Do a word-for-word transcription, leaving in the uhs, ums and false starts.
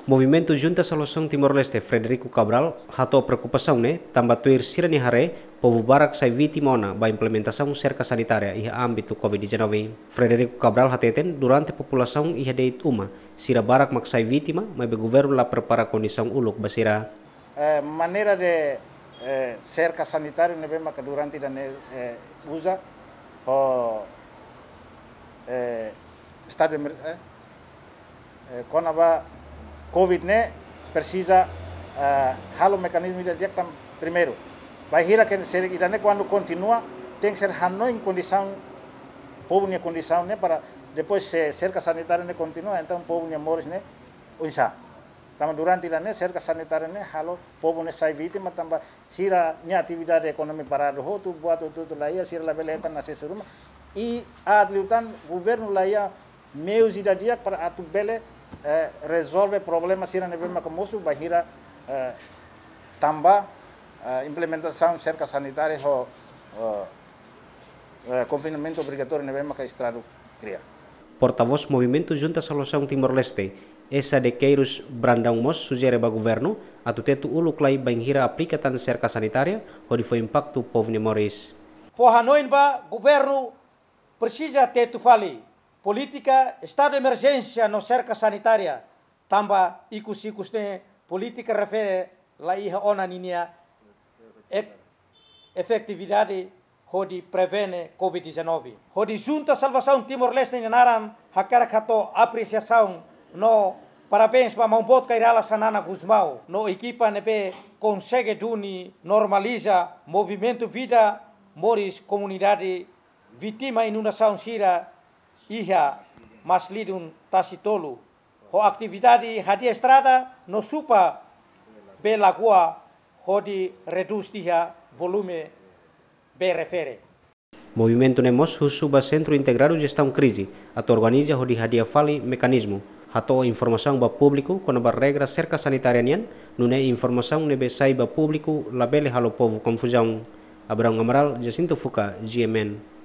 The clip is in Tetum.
Movimentu Junta Salvasaun Timor-Leste, Frederico Cabral, hato'o preokupasaun ne'e tanba tuir sira-nia haree, povu barak sai vítima ona ba implementasaun serka sanitária iha ámbitu covid dezanove. Frederico Cabral hateten, durante populasaun iha de'it uma, sira barak mak sai vítima, maibé governu la prepara kondisaun uluk ba sira. Eh, maneira de, eh, serka sanitáriu ne'ebé maka durante ida-ne'e, eh, uza ho, eh, estadu de emer-, eh, eh, kona-ba covid ne'e presiza, eh, halo mekanizmu ida di'ak tan primeiru. Bainhira ke se ida-ne'e kuandu kontinua, tenke ser hanoin kondisaun, povu nia kondisaun ne'e para depois se serka sanitáriu ne'e kontinua, entaun povu nia moris ne'e oinsá. Tanba durante ida-ne'e serka sanitáriu ne'e halo povu ne'e sai vítima tanba sira-nia atividade ekonomia paradu hotu, buat hotu-hotu la iha, sira labele hetan asesu ruma. I aat liután governu la iha meius ida di'ak para atu bele, eh, rezolve problema sira ne'ebé maka mosu bainhira, eh, tanba, eh, implementasaun serka sanitária ho, eh, eh, konfinamentu obrigatóriu ne'ebé maka estadu kria. Portavós Movimentu Junta Salvasaun Timor-Leste, Esa de Queiroz Brandão mós sujere ba governu atu tetu uluk lai bainhira aplika tan serka sanitária, hodi fó impaktu povu nia moris. Fó hanoin ba governu presiza tetu fali polítika estadu de emerjénsia no serka sanitária, tanba ikus-ikus ne'e polítika refere la iha ona ninia ek-, efetividade hodi prevene covid dezanove. Hodi Junta Salvasaun Timor-Leste nia naran hakarak hato'o apresiasaun no parabéns ba Maun Boot Kay Rala Xanana Gusmão no ekipa ne'ebé konsege duni normaliza movimentu vida moris komunidade vítima inundasaun sira iha Maslidun Tasi Tolu, ho atividade hadi'a estrada no supa bee lagoa hodi redús tiha volume bee refere. Movimentu ne'e mós husu ba Sentru Integradu Jestaun Krize atu organiza hodi hadi'a fali mekanizmu, hato'o informasaun ba públiku kona-ba regra serka sanitária nian, nune'e informasaun ne'ebé sai ba públiku labele halo povu konfuzaun. Abraão Amaral, Jacinto Fuca, G M N.